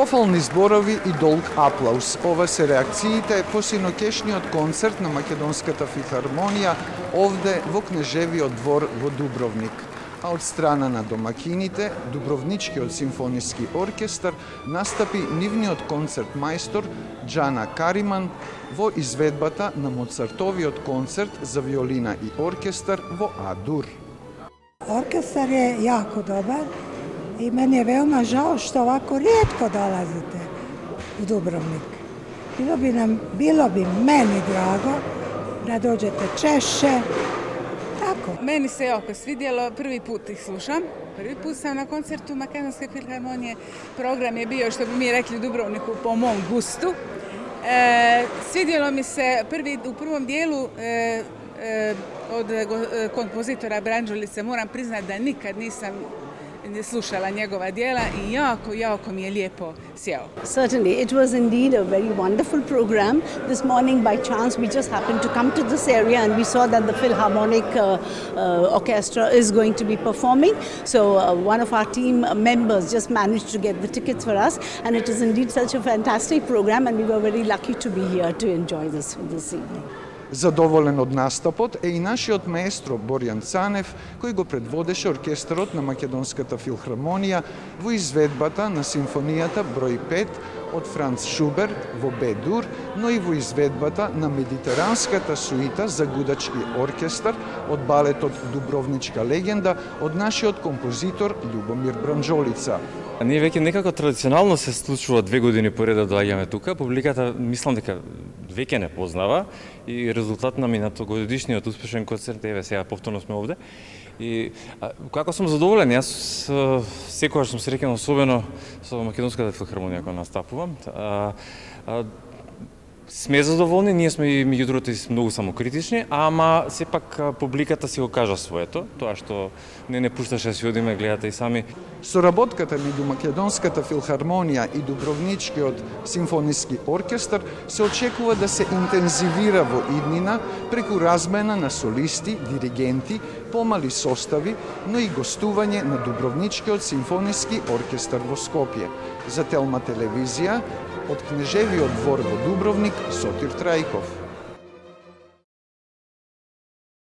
Пофални зборови и долг аплауз. Ова се реакциите по синоќешниот концерт на Македонската филхармонија овде во Кнежевиот двор во Дубровник. А од страна на домакините, Дубровничкиот симфониски оркестар настапи нивниот концерт мајстор Џана Кариман во изведбата на Моцартовиот концерт за виолина и оркестар во А-дур. Оркестар е јако добар и мене е веома жал што овако ретко долазите у Дубровник. Било би мени драго да доđete чešće. Tako. Meni se jako svidjelo, prvi put ih slušam. Prvi put sam na koncertu Makedonske filharmonije. Program je bio, što bi mi rekli u Dubrovniku, po mom gustu. Svidjelo mi se u prvom dijelu od kompozitora Branđulice. Moram priznati da nikad nisam slušala njegova djela i jako mi je lijepo sjeo. Certainly, it was indeed a very wonderful program. This morning, by chance, we just happened to come to this area and we saw that the Philharmonic Orchestra is going to be performing. So one of our team members just managed to get the tickets for us, and it is indeed such a fantastic program, and we were very lucky to be here to enjoy this evening. Задоволен од настапот е и нашиот маестро Борјан Цанев, кој го предводеше оркестарот на Македонската филхармонија во изведбата на симфонијата број 5 од Франц Шуберт во Б-дур, но и во изведбата на медитеранската суита за гудачки оркестар од балетот Дубровничка легенда од нашиот композитор Љубомир Бранџолица. Ние веќе некако традиционално се случува 2 години поред да доаѓаме тука. Публиката мислам дека веќе не познава и резултат на минатогодишниот успешен концерт, еве сега повторно сме овде. И како сум задоволен, јас секогаш сум среќен, особено со Македонската филхармонија кога настапувам. Сме задоволни, ние сме и меѓу другото многу самокритични, ама сепак публиката си го кажа своето, тоа што не пушташе да си одиме, гледате и сами. Соработката меѓу Македонската филхармонија и Дубровничкиот симфониски оркестар се очекува да се интензивира во иднина преку размена на солисти, диригенти, помали состави, но и гостување на Дубровничкиот симфониски оркестар во Скопје. За Телма телевизија, од Кнежевиот двор во Дубровник, Сотир Трајков.